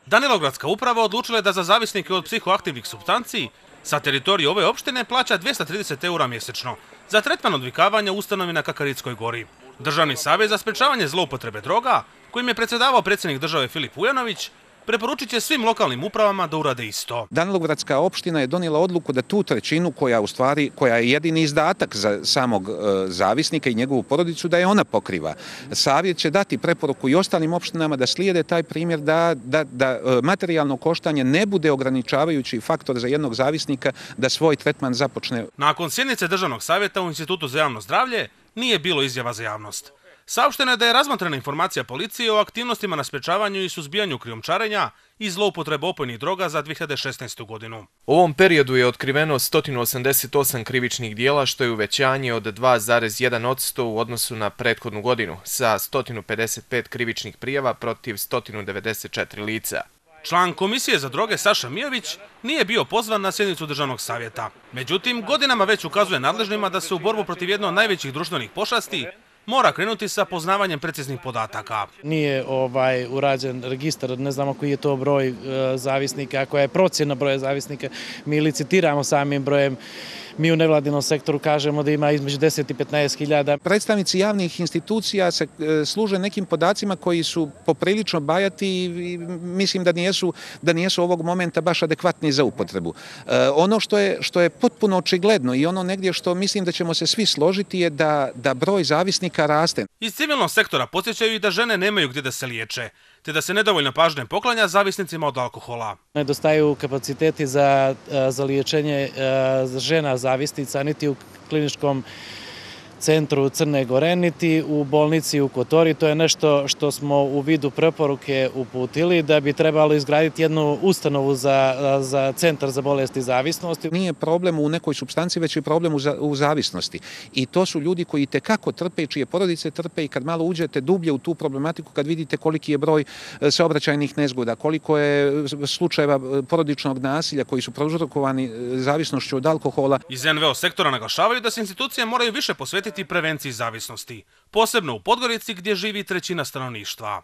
Danilogradska uprava odlučila je da za zavisnike od psihoaktivnih supstanci sa teritorije ove opštine plaća 230 € mjesečno za tretman odvikavanja u ustanovi na Kakaritskoj gori. Državni savjet za sprečavanje zloupotrebe droga, kojim je predsjedavao predsjednik države Filip Vujanović, preporučit će svim lokalnim upravama da urade isto. Danilogradska opština je donijela odluku da tu trećinu koja je jedini izdatak za samog zavisnika i njegovu porodicu, da je ona pokriva. Savjet će dati preporuku i ostalim opštinama da slijede taj primjer da materijalno koštanje ne bude ograničavajući faktor za jednog zavisnika da svoj tretman započne. Nakon sjednice Državnog savjeta u Institutu za javno zdravlje nije bilo izjava za javnost. Saopšteno je da je razmotrena informacija policije o aktivnostima na sprečavanju i suzbijanju krijumčarenja i zloupotrebe opojnih droga za 2016. godinu. U ovom periodu je otkriveno 188 krivičnih dijela, što je uvećanje od 2,1% u odnosu na prethodnu godinu, sa 155 krivičnih prijava protiv 194 lica. Član Komisije za droge Saša Mijović nije bio pozvan na sjednicu Državnog savjeta. Međutim, godinama već ukazuje nadležnima da se u borbu protiv jedne od najvećih društvenih pošasti mora krenuti sa poznavanjem preciznih podataka. Nije urađen registar, ne znamo koji je to broj zavisnika, koja je procjena broja zavisnika. Mi licitiramo samim brojem. Mi u nevladinom sektoru kažemo da ima između 10 i 15 hiljada. Predstavnici javnih institucija se služe nekim podacima koji su poprilično bajati i mislim da nijesu ovog momenta baš adekvatni za upotrebu. Ono što je potpuno očigledno i ono negdje što mislim da ćemo se svi složiti je da broj zavisnika raste. Iz civilnog sektora podsjećaju i da žene nemaju gdje da se liječe, te da se nedovoljno pažnje poklanja zavisnicima od alkohola. Nedostaju kapaciteti za liječenje žena zavisnica, niti u kliničkom centru Crne Gore, niti u bolnici u Kotori. To je nešto što smo u vidu preporuke uputili, da bi trebalo izgraditi jednu ustanovu za centar za bolesti zavisnosti. Nije problem u nekoj supstanciji, već je problem u zavisnosti. I to su ljudi koji itekako trpe, čije porodice trpe, i kad malo uđete dublje u tu problematiku, kad vidite koliki je broj saobraćajnih nezgoda, koliko je slučajeva porodičnog nasilja koji su prouzrokovani zavisnošću od alkohola. Iz NVO sektora naglašavaju da se institucije moraju više posvetiti prevenciji zavisnosti, posebno u Podgorici gdje živi trećina stanovništva.